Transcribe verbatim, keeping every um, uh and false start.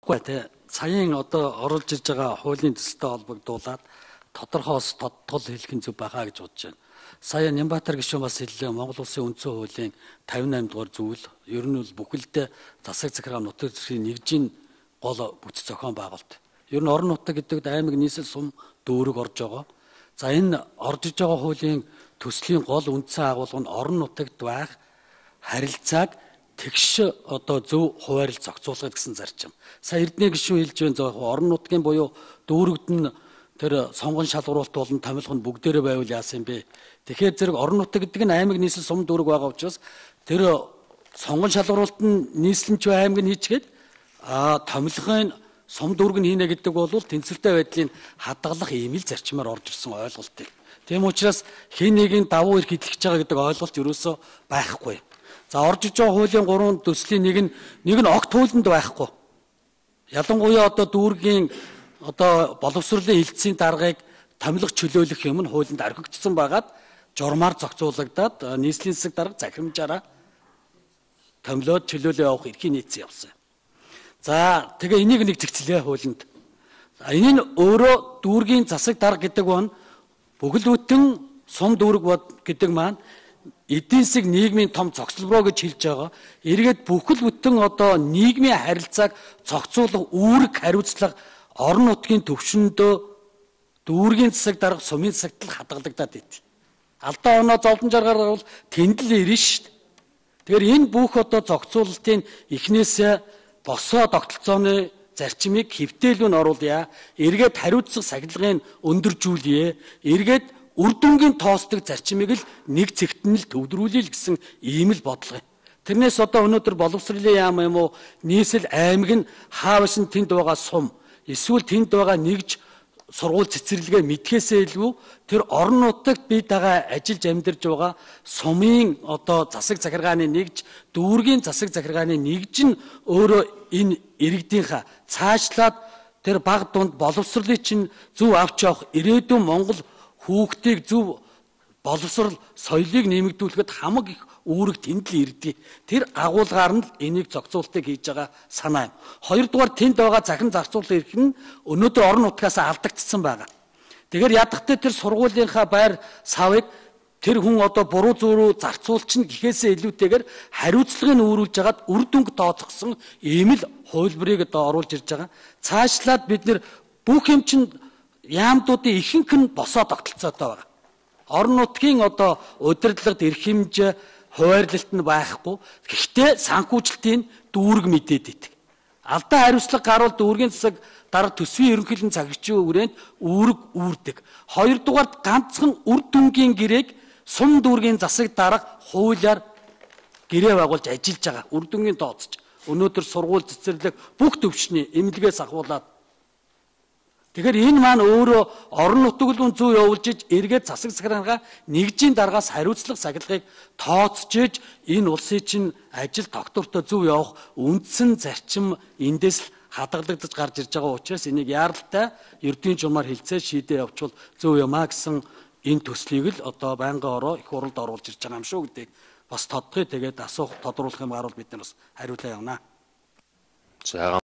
Гэхдээ саяын одоо оруулж ирж байгаа хуулийн төсөлтэй холбогдуулаад тодорхойлс тодтол хэлэх нь зөв байгаа гэж бодож байна. Сая Нямбатар гишүүн бас хэллээ, Монгол Улсын үндсэн хуулийн тавьж восемь дугаар зүйл ер нь бол бүхэлдээ засаг захиргаа нутаг засгийн нэгжийн гол бүтэц зохион байгуулалт. Ер нь орон нутаг гэдэг аймаг нийслэл сум дүүрэг орж байгаа. За энэ орж иж байгаа хуулийн төслийн гол үндсэн агуулга нь орон нутагт байх харилцааг тэгш одоо зөв хуваарлж зохицуулах гэсэн зарчим. Сая Эрдэнэ гишүүн хэлж байна зөө орон нутгийн буюу дүүрэгд нь тэр сонгон шалгуулалт болон томилго нь бүгдээрээ байвал яасан бэ? Тэгэхээр зэрэг орон нутаг гэдэг нь аймаг нийслэл сум дүүрэг байгаа учраас тэр сонгон шалгуулалт нь нийслэмч аймаг нь хийчгээд а томилгын сум дүүрэг нь хийнэ гэдэг бол тэнцвэртэй байдлыг хадгалах ийм л зарчмаар орж ирсэн ойлголтыг. Тийм учраас хин нэгийн давуу эрх идэлж байгаа гэдэг ойлголт ерөөсөө байхгүй. За орж иж байгаа хуулийн гурван төслийн нэг нь нэг нь огт хуулинд байхгүй. Ялангуяа одоо дүүргийн одоо боловсролын хилцээний даргаыг томилох чөлөөлөх юм нь хуулинд орхигдсон байгаад журмаар зохицуулагдаад нийслэлийн засаг дарга захирамжаараа томилоод чөлөөлөө явах эрхийн нийцсэн явсан. За тэгээ энийг нэг зэгцлээ хуулинд. За энэ нь өөрөө дүүргийн засаг дарга гэдэг нь бүхэл бүтэн сум дүүрэг гэдэг маань эдийн засаг нийгмийн том цогцлбороо гэж хэлж байгаа. Эргээд бүхэл бүтэн одоо нийгмийн харилцааг зохицуулах үүрэг хариуцлага орон нутгийн төвшөндөө дүүргийн засаг дарга сумын засагт л хадгалагдаад байт. Алдаа оноо зовлон жаргаар бол тэнд л ирнэ шүү дээ. Тэгэхээр энэ бүх одоо зохицуулалтын эхнээсээ босоо тогтолцооны зарчмыг хэвтээлүүн оруулъя. Эргээд хариуцлага сахилгын өндөржүүлье. Эргээд үр дүнгийн тоосдог зарчмыг л нэг цэгт нь л төвдрүүлээ гэсэн ийм л бодлого юм. Тэрнээс одоо өнөөдөр боловсролын яам юм уу нийслэл аймаг нь хаавс нь тэнд байгаа сум эсвэл тэнд байгаа нэгж сургууль цэцэрлэгээ мэдхээсээ илүү тэр орон нутагт бий байгаа ажиллаж амьдарч байгаа сумын одоо засаг захиргааны нэгж дүүргийн засаг захиргааны нэгж нь өөрөө энэ иргэдийнхаа цаашлаад тэр баг дунд боловсролыг чинь зөв авч явах ирээдүйн Монгол хүүхдийг зөв боловсрол соёлыг нэмэгдүүлэхэд хамаг их үүрэг тэнд л ирдэг. Тэр агуулгаар нь энийг зохицуултыг хийж байгаа санаа юм. Хоёрдугаар тэнд байгаа захин зарцуулах эрх нь өнөөдөр орон нутгаас алдагдсан байгаа. Тэгэхээр ядахтай тэр сургуулийнхаа байр савыг тэр хүн одоо буруу зүүрүү зарцуулчин гэхээсээ илүүтэйгээр хариуцлагыг өөрүүлж хагаад үр дүнг тооцоглсон ийм л хувилбарыг одоо оруулж ирж байгаа. Цаашлаад бид нэр бүх юм чинь яамдуудын ихэнх нь босоо тогтолцоотой байгаа. Орон нутгийн одоо удирдлагад эрх хэмжээ хуваарлалт нь байхгүй. Гэхдээ санхүүжилтийн дүүрэг мэдээд идэг. Алдаа хариуцлага гарвал дүүргийн засаг дарга төсвийн ерөнхийлөн цагчийн хүрээнд үүрэг үүрдэг. Хоёрдугаард ганцхан үр дүнгийн гэрээг сум дүүргийн засаг дарга хуулиар гэрээ байгуулж ажиллаж байгаа. Үр дүнгийн тооцож. Өнөөдөр сургууль цэцэрлэг бүх төвчний эмнэлгээс ахуулаад. Тэгэхээр энэ маань өөрөө орон нутгийн зүй явуулж иж эргээд засаг захиргаанаа нэгжийн даргаас хариуцлага сахилгыг тооцож иж энэ улсын чинь ажил тогтвортой зөв явах үндсэн зарчим эндээс л хадгалагдаж гарч ирж байгаа учраас энийг яаралтай эрдэнэ журмаар хэлцээ шийдээ явуул зөв юмаа гэсэн энэ төслийг л одоо байнгын ороо их хурлд оруулж ирж байгаа юм шүү гэдгийг бас тодорхой тэгээд асуух тодруулах юм гарвал бид нар бас хариулаа явна. За